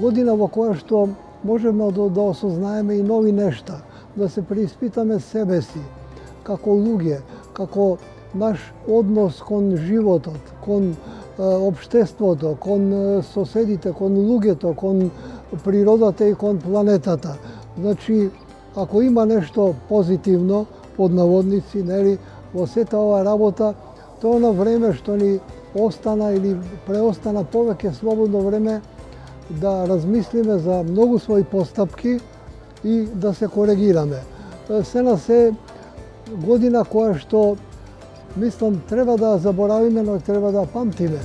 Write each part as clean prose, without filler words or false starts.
година во која што можеме да осознаеме и нови нешта, да се преиспитаме себе си, како луѓе, како наш однос кон животот, кон општеството, кон соседите, кон луѓето, кон природата и кон планетата. Значи, ако има нешто позитивно, под наводници, нели, во сета оваа работа, тоа на време што ни остана или преостана повеќе слободно време да размислиме за многу своји постапки и да се коригираме. Се на се година која што, мислам, треба да заборавиме, но треба да памтиме.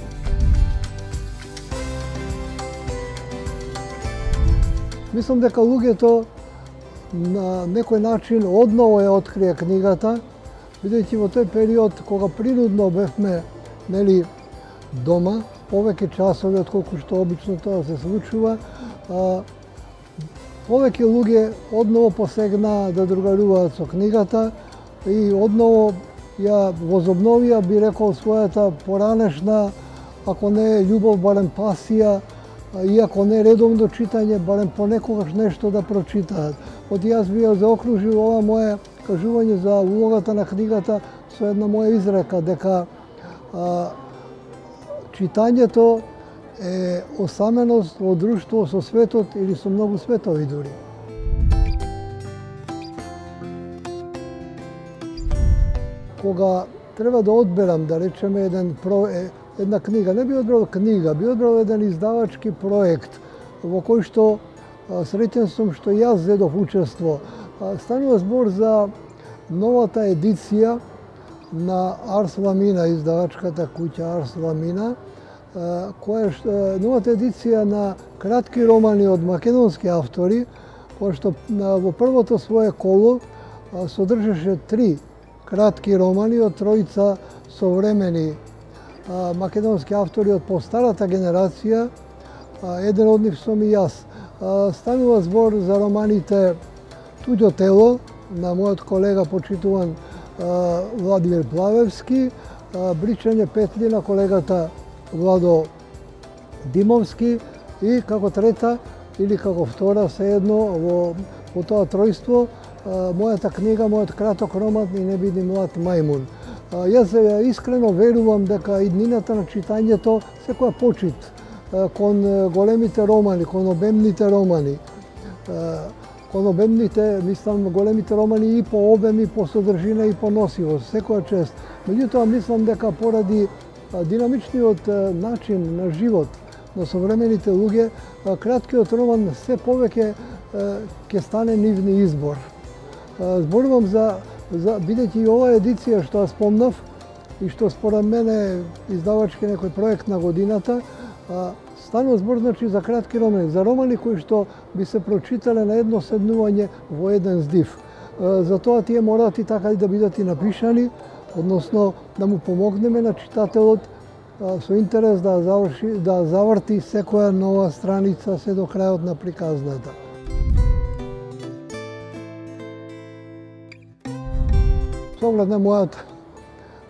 Мислам дека луѓето на некој начин одново ја открие книгата, бидејќи во тој период кога принудно бевме, нели, дома, повеќе часови отколку што обично тоа се случува, повеќе луѓе одново посегнаа да другаруваат со книгата и одново ја возобновија, би рекол, својата поранешна, ако не е љубов, барем пасија, и ако не редовно читање, барем понекогаш нешто да прочитаат. Јас би ја заокружил ова моje кажување за улогата на книгата со една моја изрека, дека читањето е осаменост во друштво со светот или со многу светови дури. Кога треба да одберам, да речеме, една книга, не би одбрал книга, би одбрал еден издавачки проект во кој што среќен сум што јас зедов учество. Станува збор за новата едиција на Арс Ламина, издавачката куќа Арс Ламина, новата едиција на кратки романи од македонски автори, која што во првото свое коло содржеше 3 кратки романи од тројца современи македонски автори од постарата генерација, еден од нив сум и јас. Станува збор за романите Туѓо тело на мојот колега почитуван Владимир Плавевски, Бричање петли на колегата Владо Димовски и како трета или како втора, sejedno во тоа тројство, мојата книга, мојот краток роман И не биди млад мајмун. Јас искрено верувам дека иднината на читањето секоја почит кон големите романи, кон обемните романи. Кон обемните, мислам, големите романи и по обем, и по содржина, и по носивост, секоја чест. Меѓутоа, мислам дека поради динамичниот начин на живот на современите луѓе, краткиот роман се повеќе ќе стане нивни избор. Зборувам бидејќи оваа едиција што ја спомнав и што според мене издавачки некој проект на годината, станува збор, значи, за кратки романи, за романи кои што би се прочитале на едно седнување во еден здив. Затоа тие мораат и така и да бидат и напишани, односно да му помогнеме на читателот со интерес да заврти секоја нова страница се до крајот на приказната. Со оглед на мојот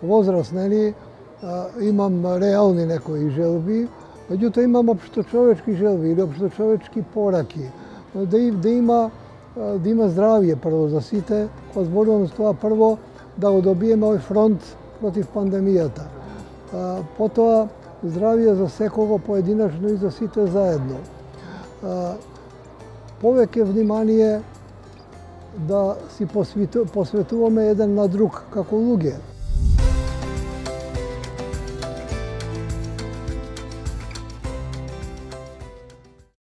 возраст, нели, имам реални некои желби, меѓутоа имам општочовечки желби или општочовечки пораки. Да има здравје прво за сите, кога зборувам за тоа прво да го добиеме овој фронт против пандемијата. Потоа здравје за секого поединечно и за сите заедно. Повеќе внимание да си посветуваме еден на друг како луѓе.